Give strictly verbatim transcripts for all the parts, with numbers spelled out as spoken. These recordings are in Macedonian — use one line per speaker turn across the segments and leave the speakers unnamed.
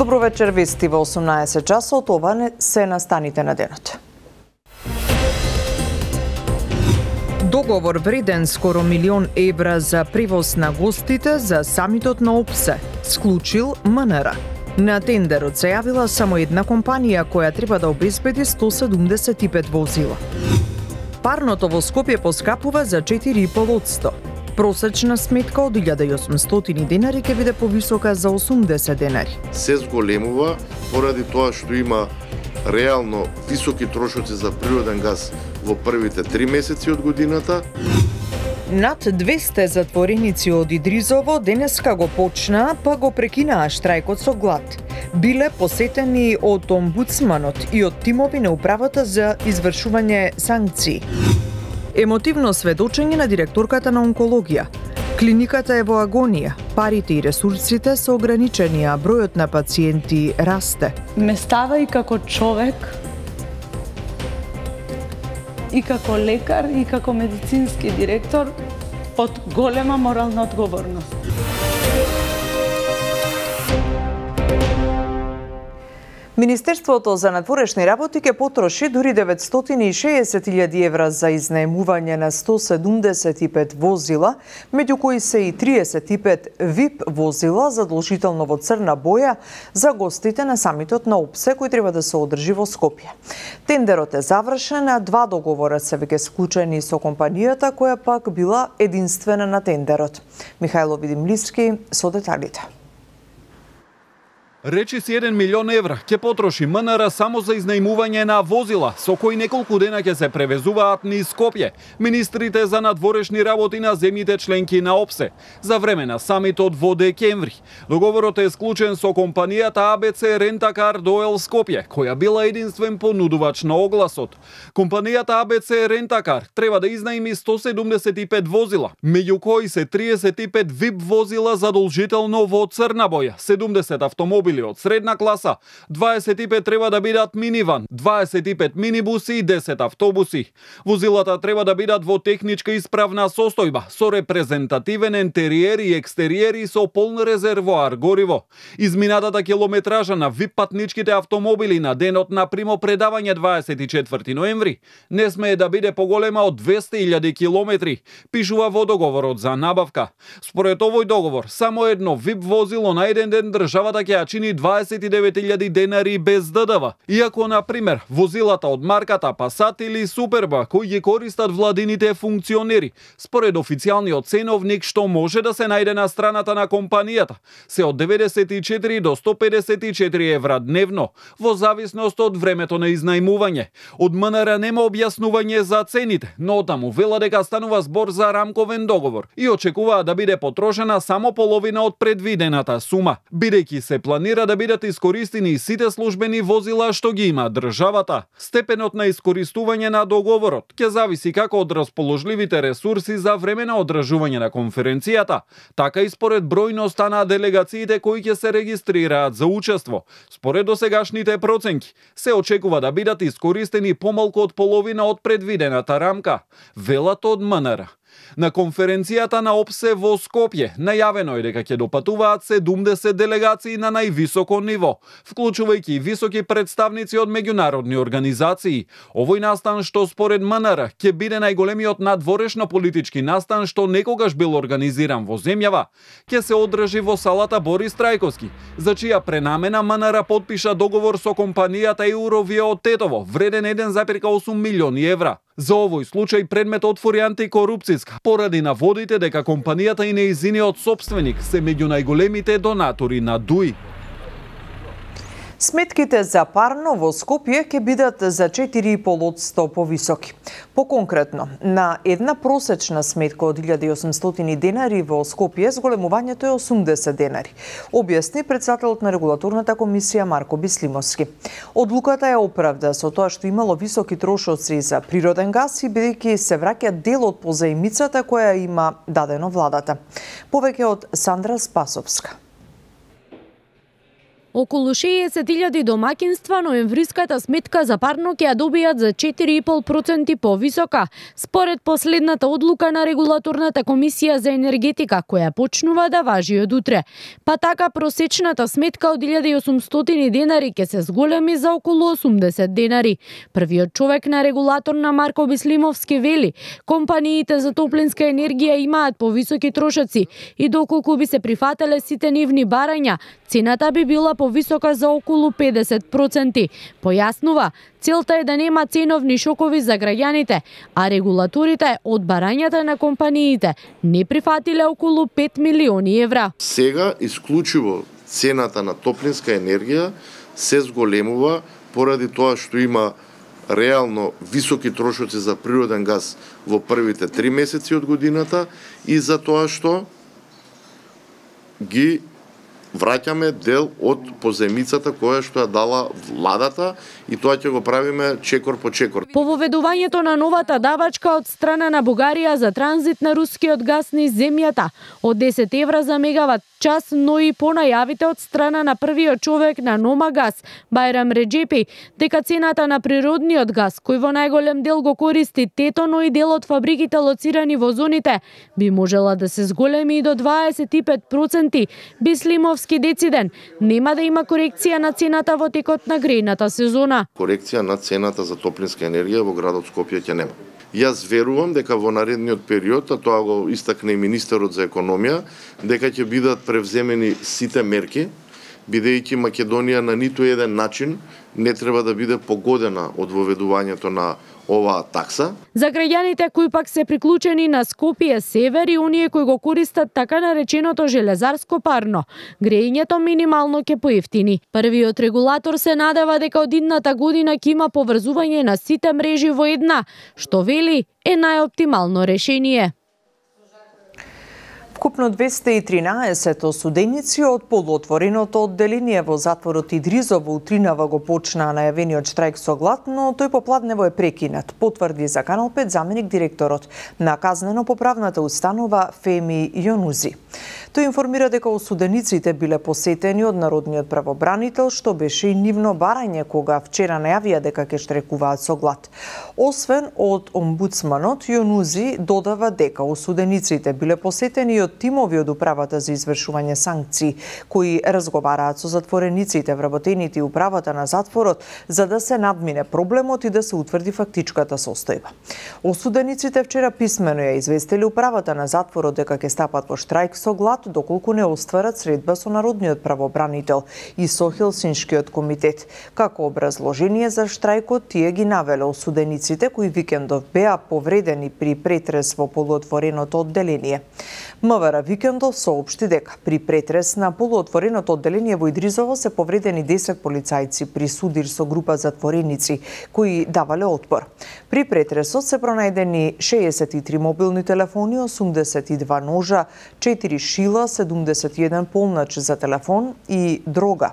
Добро вечер, вести во осумнаесет часот, ова не се настаните на денот. Договор вреден скоро милион евра за превоз на гостите за самитот на ОПСЕ склучил МНР. На тендерот се јавила само една компанија која треба да обезбеди сто седумдесет и пет возила. Парното во Скопје поскапува за четири и пол одсто. Просечна сметка од илјада и осумстотини денари ќе биде повисока за осумдесет денари.
Се зголемува поради тоа што има реално високи трошоци за природен газ во првите три месеци од годината.
Над двесте затвореници од Идризово денеска го почнаа, па го прекинаа штрајкот со глад. Биле посетени од омбудсманот и од тимови на управата за извршување санкции. Емотивно сведочење на директорката на онкологија. Клиниката е во агонија, парите и ресурсите се ограничени, а бројот на пациенти расте.
Ме става и како човек, и како лекар, и како медицински директор под голема морална одговорност.
Министерството за надворешни работи ќе потроши дури деветстотини и шеесет илјади евра за изнаемување на сто седумдесет и пет возила, меѓу кои се и триесет и пет вип возила задолжително во црна боја за гостите на самитот на ОПСЕ кој треба да се одржи во Скопје. Тендерот е завршен, а два договора се веќе склучени со компанијата која пак била единствена на тендерот. Михајло Видимливски со деталите.
Речи си еден милион евра ќе потроши МНР само за изнаемување на возила, со кои неколку дена ќе се превезуваат низ Скопје министрите за надворешни работи на земјите членки на ОПСЕ за време на самитот во декември. Договорот е склучен со компанијата А Б Ц Рентакар Доел Скопје, која била единствен понудувач на огласот. Компанијата А Б Ц Рентакар треба да изнаеми сто седумдесет и пет возила, меѓу кои се триесет и пет вип возила задолжително во црна боја, седумдесет автомобили од средна класа, дваесет и пет треба да бидат миниван, дваесет и пет минибуси и десет автобуси. Возилата треба да бидат во техничка исправна состојба, со репрезентативен интериер и екстериер и со полн резервоар гориво. Изминатата километража на вип патничките автомобили на денот на примопредавање дваесет и четврти ноември не смее да биде поголема од двесте илјади километри, пишува во договорот за набавка. Според овој договор, само едно вип возило на еден ден државата ќе ја чини дваесет и девет илјади денари без Д Д В. Иако, на пример, возилата од марката Пасат или Суперба, кои ги користат владините функционери, според официјалниот ценовник што може да се најде на страната на компанијата, се од деветдесет и четири до сто педесет и четири евра дневно, во зависност од времето на изнаемување. Од МНР нема објаснување за цените, но таму вела дека станува збор за рамковен договор и очекуваа да биде потрошена само половина од предвидената сума, бидејќи се планира да бидат искористени сите службени возила што ги има државата. Степенот на искористување на договорот ќе зависи како од расположливите ресурси за време на одржување на конференцијата, така и според бројноста на делегациите кои ќе се регистрираат за учество. Според досегашните проценки, се очекува да бидат искористени помалку од половина од предвидената рамка, велат од МНР. На конференцијата на ОПСЕ во Скопје најавено е дека ќе допатуваат седумдесет делегации на највисоко ниво, вклучувајќи високи представници од меѓународни организации. Овој настан што според МНР ќе биде најголемиот надворешно политички настан што некогаш бил организиран во земјава, ќе се одржи во салата Борис Трајковски, за чија пренамена МНР потпиша договор со компанијата Eurovia од Тетово, вреден еден зарез осум милиони евра. За овој случај предмет отвори антикорупцијска, поради наводите дека компанијата и нејзиниот сопственик се меѓу најголемите донатори на ДУИ.
Сметките за парно во Скопје ќе бидат за четири и пол одсто повисоки. Поконкретно, на една просечна сметка од илјада и осумстотини денари во Скопје зголемувањето е осумдесет денари, објасни претседателот на регулаторната комисија Марко Бислимовски. Одлуката е оправда со тоа што имало високи трошоци за природен газ и бидејќи се враќа дел од позаимицата која има дадено владата. Повеќе од Сандра Спасовска.
Околу шеесет илјади домаќинства ноемвриската сметка за парно ќе ја добијат за четири и пол проценти повисока, според последната одлука на регулаторната комисија за енергетика, која почнува да важи од утре. Па така просечната сметка од илјада и осумстотини денари ќе се зголеми за околу осумдесет денари. Првиот човек на регулатор на Марко Бислимовски вели, компаниите за топлинска енергија имаат повисоки трошоци и доколку би се прифателе сите нивни барања, цената би била повисока за околу педесет проценти. Појаснува, целта е да нема ценовни шокови за граѓаните, а регулаторите од барањата на компаниите не прифатиле околу пет милиони евра.
Сега исклучиво цената на топлинска енергија се зголемува поради тоа што има реално високи трошоци за природен газ во првите три месеци од годината и за тоа што ги враќаме дел од позајмицата која што ја дала владата и тоа ќе го правиме чекор по чекор.
По воведувањето на новата давачка од страна на Бугарија за транзит на рускиот газ низ земјата од десет евра за мегават час, но и по најавите од страна на првиот човек на Номагаз, Бајрам Реджепи, дека цената на природниот газ, кој во најголем дел го користи ТЕТО, но и дел од фабриките лоцирани во зоните, би можела да се зголеми и до дваесет и пет проценти. Бислимовски дециден, нема да има корекција на цената во текот на грејната сезона.
Корекција на цената за топлинска енергија во градот Скопје ќе нема. Јас верувам дека во наредниот период, а тоа го истакна и министерот за економија, дека ќе бидат превземени сите мерки, бидејќи Македонија на ниту еден начин не треба да биде погодена од воведувањето на оваа такса.
За граѓаните кои пак се приклучени на Скопје Север и оние кои го користат така нареченото железарско парно, грејењето минимално ќе поевтини. Првиот регулатор се надева дека од идната година ќе има поврзување на сите мрежи во една, што вели е најоптимално решение.
Вкупно двесте и тринаесет осуденици од полуотвореното одделение во затворот Идризо во утринава го почнаа најавениот штрајк со глад, но тој попладнево е прекинат, потврди за Канал пет заменик директорот на казнено-поправната установа Феми Јонузи. Тој информира дека осудениците биле посетени од народниот правобранител, што беше и нивно барање кога вчера најавија дека ќе штрекуваат со глад. Освен од омбудсманот, Јонузи додава дека осудениците биле посетени и од тимови од управата за извршување санкции, кои разговараат со затворениците, вработените и управата на затворот, за да се надмине проблемот и да се утврди фактичката состојба. Осудениците вчера писмено ја известили управата на затворот дека ќе стапат во штрајк со глад доколку не остварат средба со народниот правобранител и со Хелсиншкиот комитет. Како образложение за штрајкот тие ги навеле осудениците кои викендов беа повредени при претрес во полуотвореното одделение. МВР викендов соопшти дека при претрес на полуотвореното одделение во Идризово се повредени десет полицајци при судир со група затвореници кои давале отпор. При претресот се пронајдени шеесет и три мобилни телефони, осумдесет и два ножа, четири шила, седумдесет и еден полнач за телефон и дрога.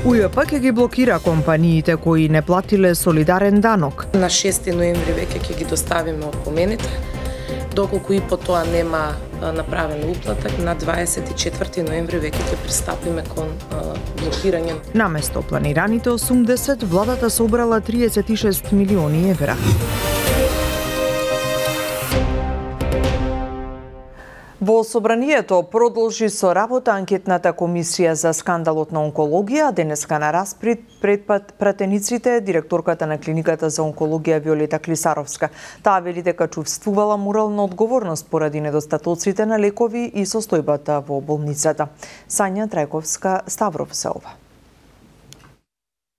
УЈП ќе ги блокира компаниите кои не платиле солидарен данок.
На шести ноември веќе ќе ги доставиме опомените. Доколку и по тоа нема направена уплата, на дваесет и четврти ноември веќе ќе пристапиме кон блокирање.
Наместо планираните осумдесет, владата собрала триесет и шест милиони евра. Во собранието продолжи со работа анкетната комисија за скандалот на онкологија. Денеска на распред пред пратениците директорката на клиниката за онкологија Виолета Клисаровска. Таа вели дека чувствувала морална одговорност поради недостатоците на лекови и состојбата во болницата. Сања Трајковска Ставров се ова.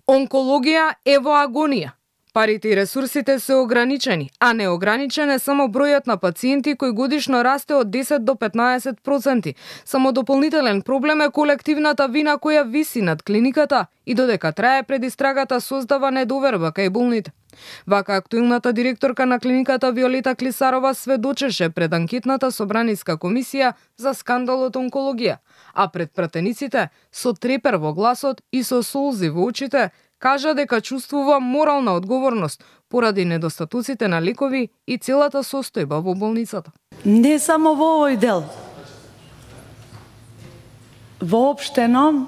Онкологија е во агонија. Парите и ресурсите се ограничени, а неограничен е само бројот на пациенти кои годишно расте од десет до петнаесет проценти. Само дополнителен проблем е колективната вина која виси над клиниката и додека трае предистрагата создава недоверба кај болните. Вака актуелната директорка на клиниката Виолета Клисарова сведочеше пред анкетната собраниска комисија за скандалот онкологија, а пред пратениците со трепер во гласот и со солзи во очите кажа дека чувствува морална одговорност поради недостатоците на лекови и целата состојба во болницата.
Не само во овој дел, Воопштено,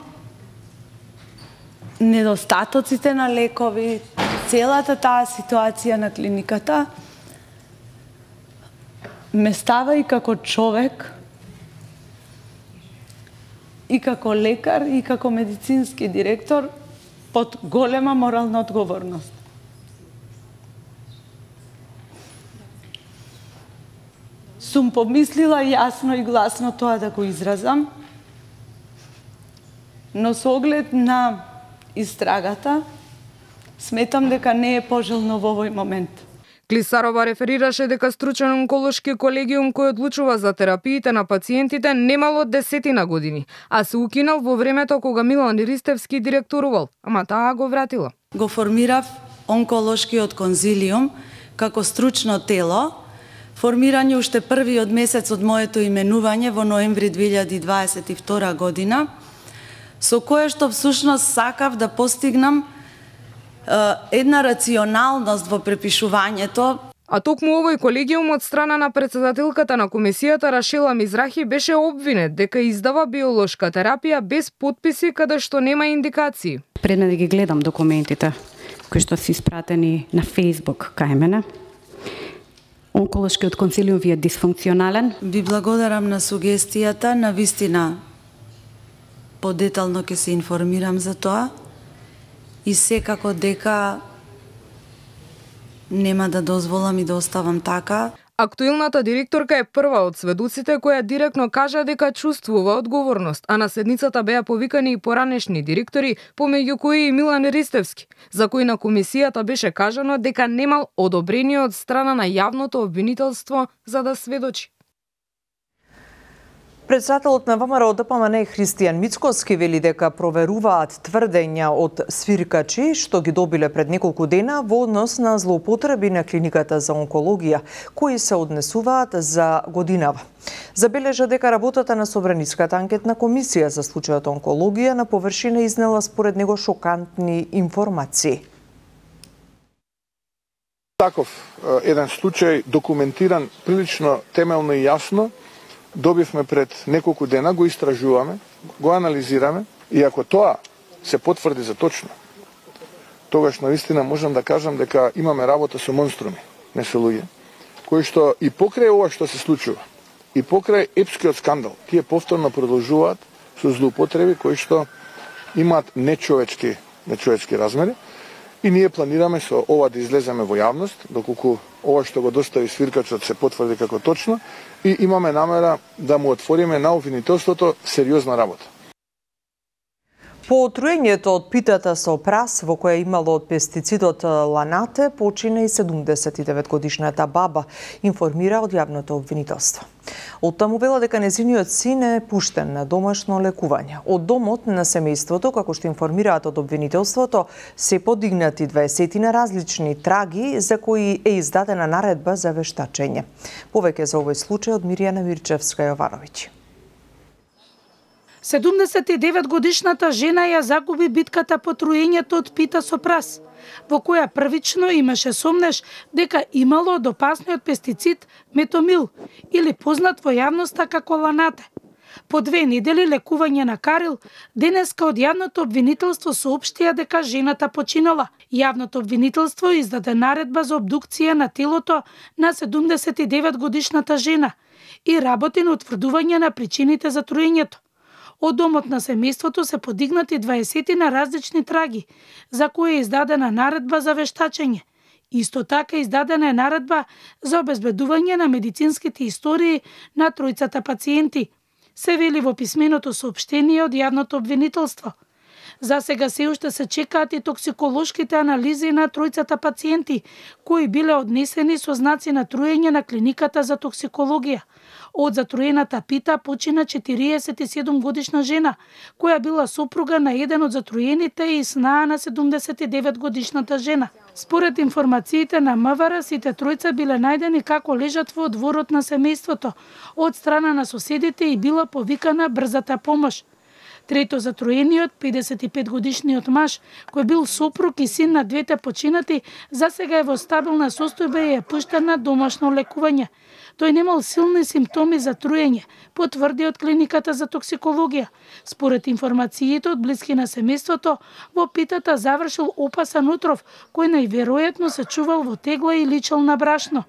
недостатоците на лекови, целата таа ситуација на клиниката ме става и како човек, и како лекар, и како медицински директор под голема морална одговорност. Сум помислила јасно и гласно тоа да го изразам, но со оглед на истрагата, сметам дека не е пожелно во овој момент.
Клисарова реферираше дека стручен онколошки колегиум кој одлучува за терапиите на пациентите немало десетина години, а се укинал во времето кога Милан Ристевски директорувал, ама таа го вратила.
Го формирав онколошкиот конзилиум како стручно тело, формирање уште првиот месец од моето именување во ноември две илјади дваесет и втора година, со кое што всушност сакав да постигнам една рационалност во препишувањето.
А токму овој колегиум од страна на претседателката на комисијата Рашела Мизрахи беше обвинет дека издава биолошка терапија без потписи каде што нема индикации.
Пред ме да ги гледам документите кои што се испратени на Facebook кај мене. Онколошкиот консилиум ви е дисфункционален.
Ви благодарам на сугестијата, на вистина подетално ќе се информирам за тоа. И секако дека нема да дозволам и да оставам така.
Актуелната директорка е прва од сведоците која директно кажа дека чувствува одговорност, а на седницата беа повикани и поранешни директори, помеѓу кои и Милан Ристевски, за кој на комисијата беше кажано дека немал одобрение од страна на јавното обвинителство за да сведочи.
Председателот на ВМРО Д П М Н Христијан Мицкоски вели дека проверуваат тврдења од свиркачи што ги добиле пред неколку дена во однос на злоупотреби на клиниката за онкологија, кои се однесуваат за годинава. Забележа дека работата на Собраниската анкетна комисија за случајот онкологија на површина изнела според него шокантни информации.
Таков еден случај документиран прилично темелно и јасно добивме пред неколку дена, го истражуваме, го анализираме и ако тоа се потврди за точно, тогаш наистина можам да кажам дека имаме работа со монструми, не со луѓе, кои што и покрај ова што се случува, и покрај епскиот скандал, тие повторно продолжуваат со злоупотреби кои што имаат нечовечки, нечовечки размери. И ние планираме со ова да излеземе во јавност, доколку ова што го достави свиркачот се потврди како точно, и имаме намера да му отвориме на обвинителството сериозна работа.
По отруењето од питата со прас во која имало од пестицидот ланате, почина и седумдесет и девет годишната баба, информира од јавното обвинителство. Од таму вела дека незиниот син е пуштен на домашно лекување. Од домот на семејството, како што информираат од обвинителството, се подигнати дваесет на различни траги за кои е издадена наредба за вештачење. Повеќе за овој случај од Миријана Мирчевска-Јовановиќ.
седумдесет и девет годишната жена ја загуби битката по труењето од пита со прас, во која првично имаше сомнеш дека имало од опасниот пестицид метомил, или познат во јавноста како ланате. По две недели лекување на Карил, денеска од јавното обвинителство соопштија дека жената починала. Јавното обвинителство издаде наредба за обдукција на телото на седумдесет и девет годишната жена и работи на утврдување на причините за труењето. Од домот на семејството се подигнати дваесет на различни траги, за кои е издадена наредба за вештачење. Исто така издадена е наредба за обезбедување на медицинските истории на тројцата пациенти, се вели во писменото соопштение од јавното обвинителство. За сега се уште се чекаат и токсиколошките анализи на тројцата пациенти, кои биле однесени со знаци на труење на клиниката за токсикологија. Од затруената пита почина четириесет и седум годишна жена, која била сопруга на еден од затруените и снаа на седумдесет и девет годишната жена. Според информациите на М В Р, сите тројца биле најдени како лежат во дворот на семејството од страна на соседите и била повикана брзата помош. Трето, затроениот педесет и пет годишниот маж, кој бил сопруг и син на двете починати, засега е во стабилна состојба и е пуштен на домашно лекување. Тој немал силни симптоми за труење, потврди од клиниката за токсикологија. Според информациите од блиски на семејството, во питата завршил опасен отров, кој најверојатно се чувал во тегла и личел на брашно.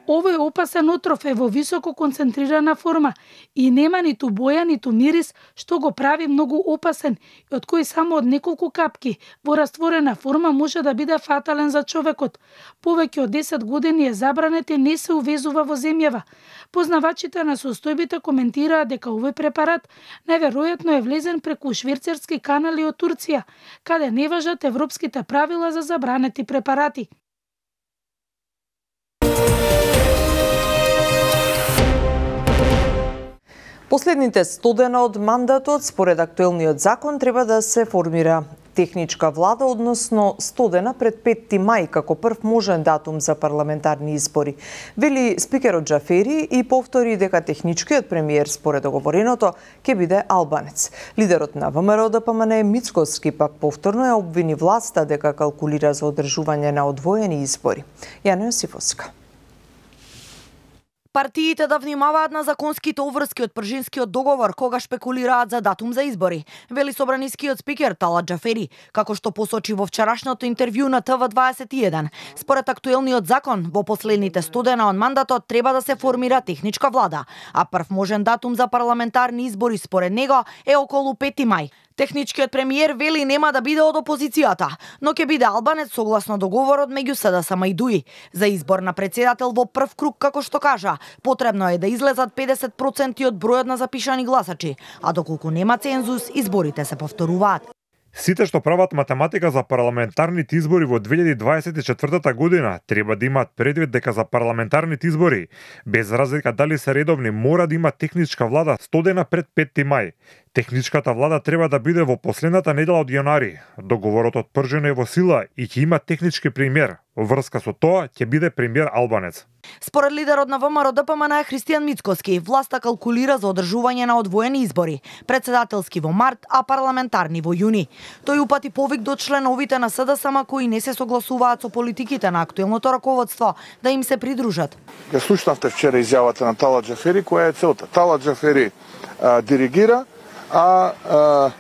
Овој опасен отров е во високо концентрирана форма и нема ниту боја, ниту мирис, што го прави многу опасен, и од кој само од неколку капки во растворена форма може да биде фатален за човекот. Повеќе од десет години е забранет и не се увезува во земјава. Познавачите на состојбите коментираат дека овој препарат најверојатно е влезен преку швицерски канали од Турција, каде не важат европските правила за забранети препарати.
Последните сто дена од мандатот, според актуелниот закон, треба да се формира техничка влада, односно сто дена пред петти мај, како прв можен датум за парламентарни избори. Вели спикерот Џафери и повтори дека техничкиот премиер, според договореното, ќе биде албанец. Лидерот на ВМРО Д П М Н Мицкоски пак повторно ја обвини власта дека калкулира за одржување на одвоени избори. Јана Јосифовска.
Партиите да внимаваат на законските обврски од Пржинскиот договор кога шпекулираат за датум за избори, вели собранискиот спикер Талат Џафери, како што посочи во вчерашното интервју на Т В дваесет и еден. Според актуелниот закон, во последните сто дена од мандатот треба да се формира техничка влада, а прв можен датум за парламентарни избори според него е околу петти мај. Техничкиот премиер вели нема да биде од опозицијата, но ќе биде албанец согласно договорот меѓу С Д С М и ДУИ. За избор на председател во прв круг, како што кажа, потребно е да излезат педесет проценти од бројот на запишани гласачи, а доколку нема цензус, изборите се повторуваат.
Сите што прават математика за парламентарните избори во две илјади дваесет и четвртата година треба да имаат предвид дека за парламентарните избори, без разлика дали се редовни, мора да има техничка влада сто дена пред петти мај. Техничката влада треба да биде во последната недела од јаnuари. Договорот од Пржина е во сила и ќе има технички премиер. Врска со тоа ќе биде премиер албанец.
Според лидерот на ВМРО Д П М Н Христијан Мицкоски, власта калкулира за одржување на одвоени избори, председателски во март, а парламентарни во јуни. Тој упати повик до членовите на С Д С М кои не се согласуваат со политиките на актуелното раководство да им се придружат.
Ја слушнавте вчера изјавата на Талат Џафери, која е целта. Талат Џафери а, диригира, а, а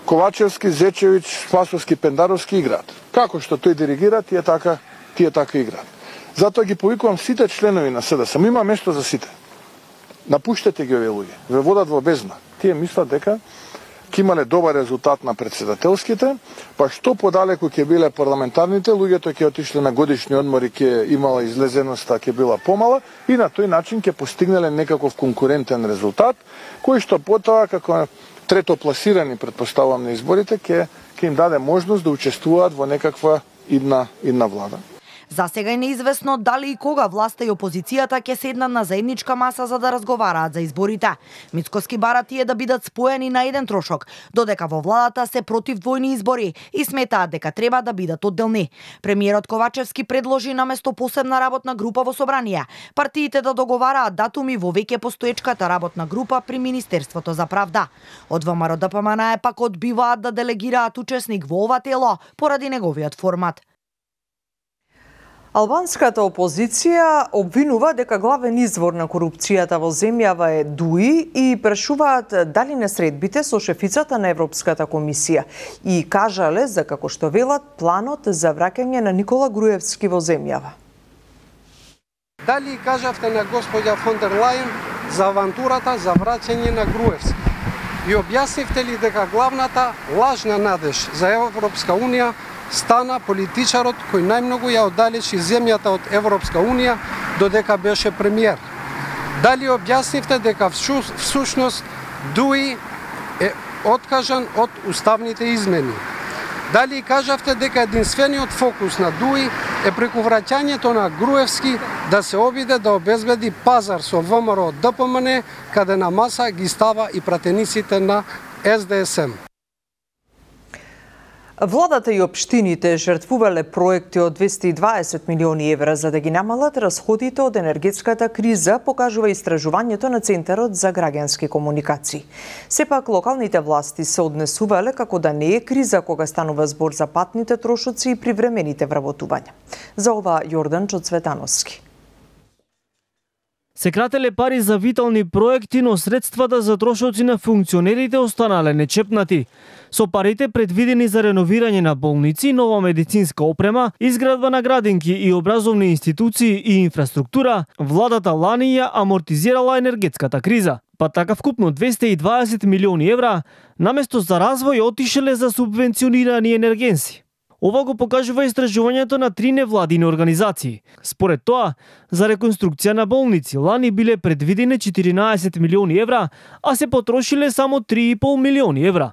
Ковачевски, Зечевич, Спасовски, Пендаровски играат. Како што тој диригира, тие така, тие така играат. Затоа ги повикувам сите членови на С Д С М. Има место за сите. Напуштете ги овие луѓе. Ве водат во бездна. Тие мислат дека ќе имале добар резултат на председателските, па што подалеку ќе биле парламентарните, луѓето ќе отишле на годишни одмори, ќе имала излезеноста, ќе била помала и на тој начин ќе постигнале некаков конкурентен резултат, кој што потоа како трето пласирани, предпоставувам, на изборите, ќе ќе им даде можност да учествуваат во некаква идна идна влада.
За сега е неизвестно дали и кога власта и опозицијата ќе седнат на заедничка маса за да разговараат за изборите. Мицкоски бара тие да бидат споени на еден трошок, додека во владата се против двојни избори и сметаат дека треба да бидат одделни. Премиерот Ковачевски предложи наместо посебна работна група во собрание, партиите да договараат датуми во веќе постоечката работна група при Министерството за правда. Од ВМРО Д П М Н пак одбиваат да делегираат учесник во ова тело поради неговиот формат.
Албанската опозиција обвинува дека главен извор на корупцијата во земјава е ДУИ и прашуваат дали несредбите со шефицата на Европската комисија и кажале за, како што велат, планот за враќање на Никола Груевски во земјава.
Дали кажавте на господја фон дер Лајен за авантурата за враќање на Груевски? И објаснивте ли дека главната лажна надеж за Европска унија стана политичарот кој најмногу ја оддалечи земјата од Европска унија додека беше премиер? Дали објаснивте дека всушност ДУИ е откажан од уставните измени? Дали кажавте дека единствениот фокус на ДУИ е преку враќањето на Груевски да се обиде да обезбеди пазар со ВМРО Д П М Н, каде на маса ги става и пратениците на С Д С М?
Владата и општините жртвувале проекти од двесте и дваесет милиони евра за да ги намалат расходите од енергетската криза, покажува истражувањето на Центарот за граѓански комуникации. Сепак локалните власти се однесувале како да не е криза кога станува збор за патните трошоци и привремените вработувања. За ова Јордан Чоцветановски.
Се крателе пари за витални проекти, но средствата за трошоци на функционерите останале нечепнати. Со парите предвидени за реновирање на болници, нова медицинска опрема, изградба на градинки и образовни институции и инфраструктура, владата лани ја амортизирала енергетската криза. Па така вкупно двесте и дваесет милиони евра, наместо за развој отишеле за субвенционирани енергенси. Ова го покажува истражувањето на три невладини организации. Според тоа, за реконструкција на болници лани биле предвидени четиринаесет милиони евра, а се потрошиле само три и пол милиони евра.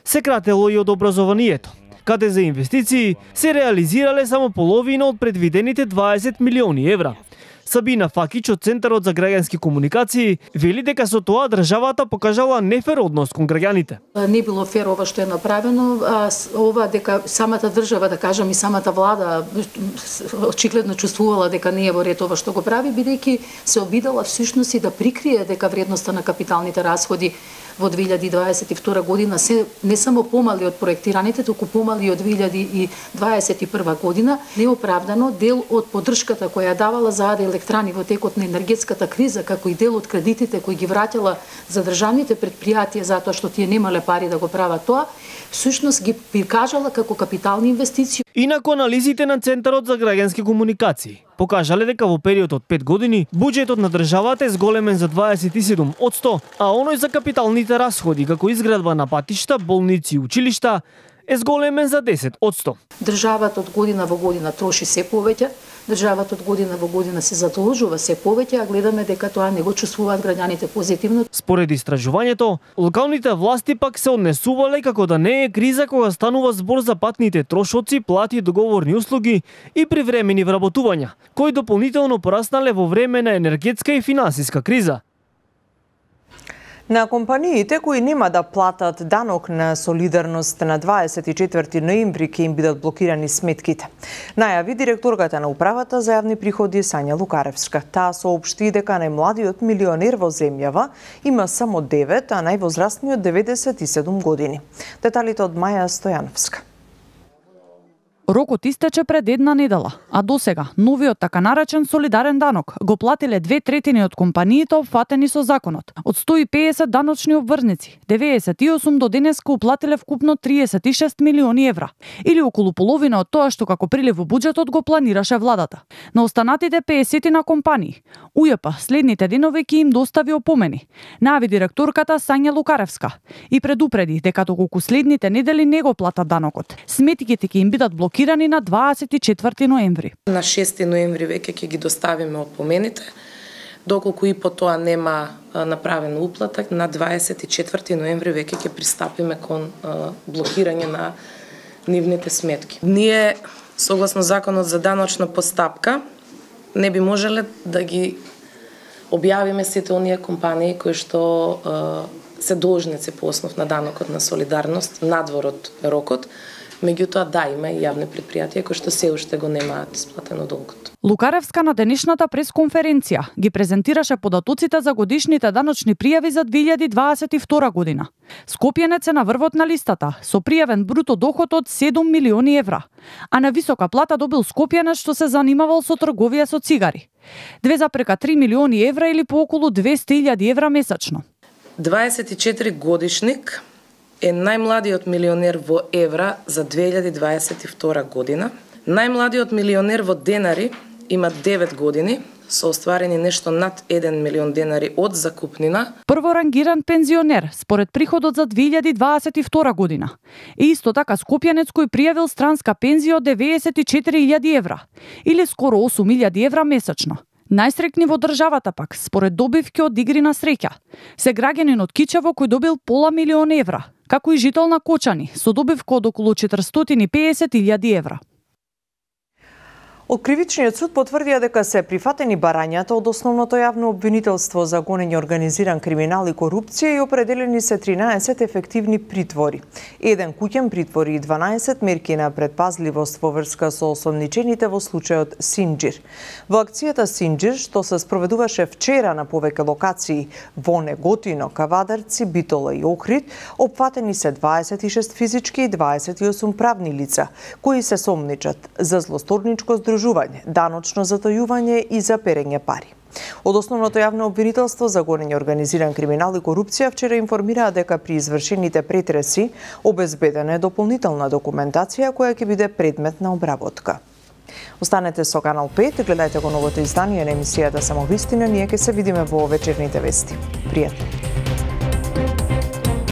Се кратело и од образованието, каде за инвестиции се реализирале само половина од предвидените дваесет милиони евра. Сабина Факич од Центарот за граѓански комуникации вели дека со тоа државата покажала нефер однос кон граѓаните.
Не било фер ова што е направено, а ова дека самата држава, да кажам и самата влада очигледно чувствувала дека не е во ред ова што го прави, бидејќи се обидала всушност и да прикрие дека вредноста на капиталните расходи во две илјади дваесет и втора година се не само помали од проектираните, туку помали од две илјади и дваесет и прва година, неоправдано дел од поддршката која давала за електрани во текот на енергетската криза, како и дел од кредитите кои ги враќала за државните предпријатија затоа што тие немале пари да го прават тоа, всушност ги прикажала како капитални инвестиции.
Инаку анализите на Центарот за граѓански комуникации покажале дека во период од пет години буџетот на државата е зголемен за дваесет и седум одсто, а оној за капиталните расходи како изградба на патишта, болници и училишта е зголемен за десет одсто.
Државата од година во година троши се повеќе, државата од година во година се задолжува се повеќе, а гледаме дека тоа не го чувствуваат граѓаните позитивно.
Според истражувањето, локалните власти пак се однесувале како да не е криза кога станува збор за патните трошоци, плати, договорни услуги и привремени вработувања, кои дополнително пораснале во време на енергетска и финансиска криза.
На компаниите кои нема да платат данок на солидарност на дваесет и четврти ноември ќе им бидат блокирани сметките. Најави директорката на управата за јавни приходи Сања Лукаревска. Таа соопшти дека најмладиот милионер во земјава има само девет, а највозрастниот деветдесет и седум години. Деталите од Маја Стојановска.
Рокот истече пред една недела, а досега новиот така наречен солидарен данок го платиле две третини од компаниите опфатени со законот. Од сто и педесет даночни обврзници, деветдесет и осум до денеска уплатиле вкупно триесет и шест милиони евра, или околу половина од тоа што како прилив во буџетот го планираше владата. На останатите педесет на компании, УЈП следните денови ќе им достави опомени, најави директорката Сања Лукаревска и предупреди дека доколку следните недели не го платат данокот, сметките ќе им бидат блокирани на дваесет и четврти ноември.
На шести ноември веќе ќе ги доставиме опомените. Доколку и по тоа нема направен уплатак, на дваесет и четврти ноември веќе ќе пристапиме кон блокирање на нивните сметки. Ние, согласно законот за даночна постапка, не би можеле да ги објавиме сите оние компании кои што се должници по основ на данокот на солидарност надвор од рокот. Меѓутоа, да, има и јавни предпријатија кои што се уште го немаат исплатено долгот.
Лукаревска на денешната пресконференција ги презентираше податоците за годишните даночни пријави за две илјади дваесет и втора година. Скопјенец е на врвот на листата, со пријавен бруто доход од седум милиони евра, а на висока плата добил Скопјенец што се занимавал со трговија со цигари. две запрека три милиони евра или по околу двесте илјади евра месечно.
дваесет и четири годишник е најмладиот милионер во евра за две илјади дваесет и втора година. Најмладиот милионер во денари има девет години, со остварени нешто над еден милион денари од закупнина.
Прворангиран пензионер според приходот за две илјади дваесет и втора година. И исто така Скопјанец кој пријавил странска пензија од деветдесет и четири илјади евра, или скоро осум илјади евра месечно. Најсрекни во државата пак, според добивки од игри на среќа, се граѓанин од Кичево кој добил пола милион евра, како и жител на Кочани, со добивка од околу четиристотини и педесет илјади евра.
Од Кривичниот суд потврдија дека се прифатени барањата од основното јавно обвинителство за гонење организиран криминал и корупција и определени се тринаесет ефективни притвори. Еден куќен притвор и дванаесет мерки на предпазливост во врска со осомничените во случајот Синџир. Во акцијата Синџир, што се спроведуваше вчера на повеќе локации во Неготино, Кавадарци, Битола и Охрид, опфатени се дваесет и шест физички и дваесет и осум правни лица, кои се сомничат за злосторничко здружување, даночно затајување и за перење пари. Од основното јавно обвинителство за гонење организиран криминал и корупција вчера информираа дека при извршените претреси обезбедена е дополнителна документација која ќе биде предмет на обработка. Останете со Канал пет, гледајте го новото издание на емисијата Самовистина, ние ќе се видиме во вечерните вести. Пријатно!